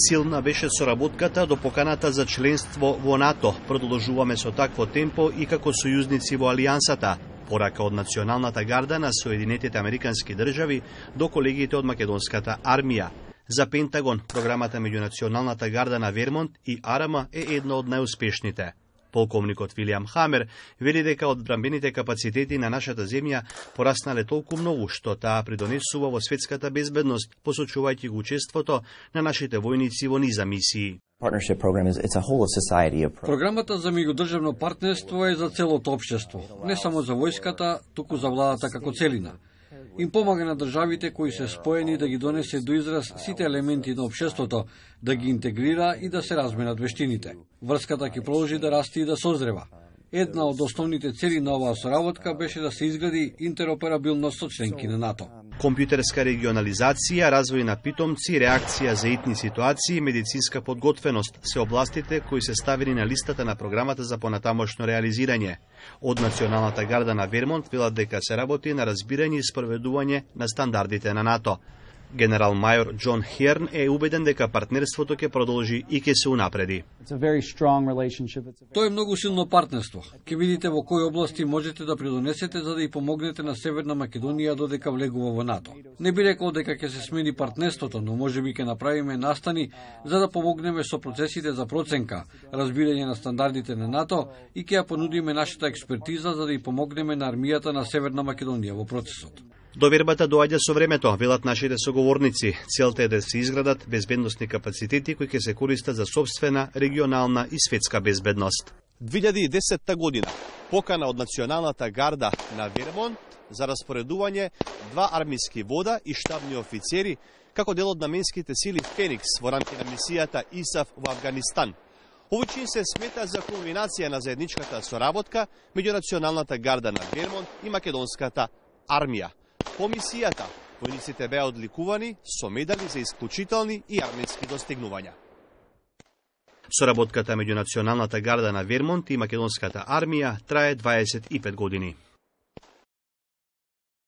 Силна беше соработката до поканата за членство во НАТО. Продолжуваме со такво темпо и како сојузници во Алијансата. Порака од Националната гарда на Соединетите Американски држави до колегите од Македонската армија. За Пентагон, програмата меѓу Националната гарда на Вермонт и АРМА е една од најуспешните. Полковникот Вилијам Хамер вели дека одбранбените капацитети на нашата земја пораснале толку многу што таа придонесува во светската безбедност, посочувајќи го учеството на нашите војници во низа мисии. Програмата за меѓудржавно партнерство е за целото општество, не само за војската, туку за владата како целина. Им помага на државите кои се споени да ги донесе до израз сите елементи на општеството, да ги интегрира и да се разменат вештините. Врската ќе продолжи да расте и да созрева. Една од основните цели на оваа соработка беше да се изгради интероперабилност со членки на НАТО. Компјутерска регионализација, развој на питомци, реакција за итни ситуации и медицинска подготвеност се областите кои се ставени на листата на програмата за понатамошно реализирање. Од Националната гарда на Вермонт велат дека се работи на разбирање и спроведување на стандардите на НАТО. Генерал мајор Џон Херн е убеден дека партнерството ќе продолжи и ќе се унапреди. Тоа е многу силно партнерство. Ќе видите во кои области можете да придонесете за да и помогнете на Северна Македонија додека влегува во НАТО. Не би рекол дека ќе се смени партнерството, но можеби ќе направиме настани за да помогнеме со процесите за проценка, разбирање на стандардите на НАТО и ќе ја понудиме нашата експертиза за да и помогнеме на армијата на Северна Македонија во процесот. Довербата доаѓа со времето, велат нашите соговорници. Целта е да се изградат безбедносни капацитети кои ќе се користат за собствена, регионална и светска безбедност. 2010 година покана од Националната гарда на Вермонт за распоредување 2 армиски вода и штабни офицери како дел од наменските сили Феникс во рамки на мисијата ИСАФ во Афганистан. Овој чин се смета за кулминација на заедничката соработка меѓу Националната гарда на Вермонт и Македонската армија. По мисијата, војниците беа одликувани со медали за исклучителни и армијски достигнувања. Соработката меѓу Националната гарда на Вермонт и Македонската армија трае 25 години.